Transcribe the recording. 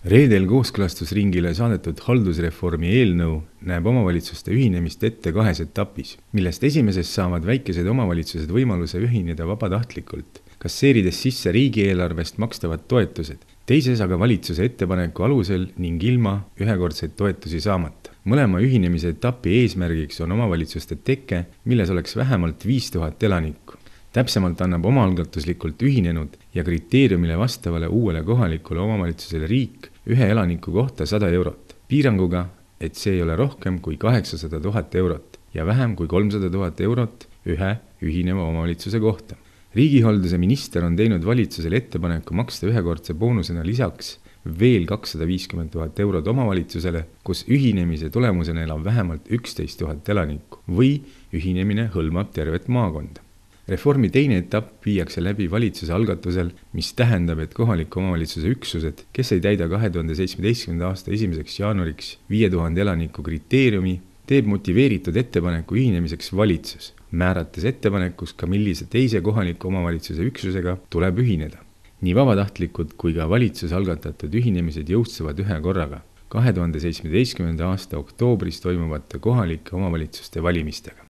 Reedel kooskõlastusringile saadetud haldusreformi eelnõu näeb omavalitsuste ühinemist ette 2 etapis, millest esimeses saavad väikesed omavalitsused võimaluse ühineda vabatahtlikult, kasseerides sisse riigieelarvest makstavad toetused, teises aga valitsuse ettepaneku alusel ning ilma ühekordseid toetusi saamata. Mõlema ühinemise etapi eesmärgiks on omavalitsuste teke, milles oleks vähemalt 5000 elanikku. Täpsemalt annab omaalgatuslikult ühinenud ja kriteeriumile vastavale uuele kohalikule omavalitsusele riik 1 elaniku kohta 100 eurot. Piiranguga, et see ei ole rohkem kui 800 000 eurot ja vähem kui 300 000 eurot ühe ühineva omavalitsuse kohta. Riigihalduse minister on teinud valitsusele ettepaneku maksta ühekordse boonusena lisaks veel 250 000 eurot omavalitsusele, kus ühinemise tulemusena elab vähemalt 11 000 elanikku või ühinemine hõlmab tervet maakonda. Reformi teine etapp viiakse läbi valitsuse algatusel, mis tähendab, et kohaliku omavalitsuse üksused, kes ei täida 2017. aasta 1. jaanuariks 5000 elaniku kriteeriumi, teeb motiveeritud ettepaneku ühinemiseks valitsus, määrates ettepanekus ka millise teise kohaliku omavalitsuse üksusega tuleb ühineda. Nii vabatahtlikud kui ka valitsuse algatatud ühinemised jõustuvad ühe korraga 2017. aasta oktoobris toimuvate kohalike omavalitsuste valimistega.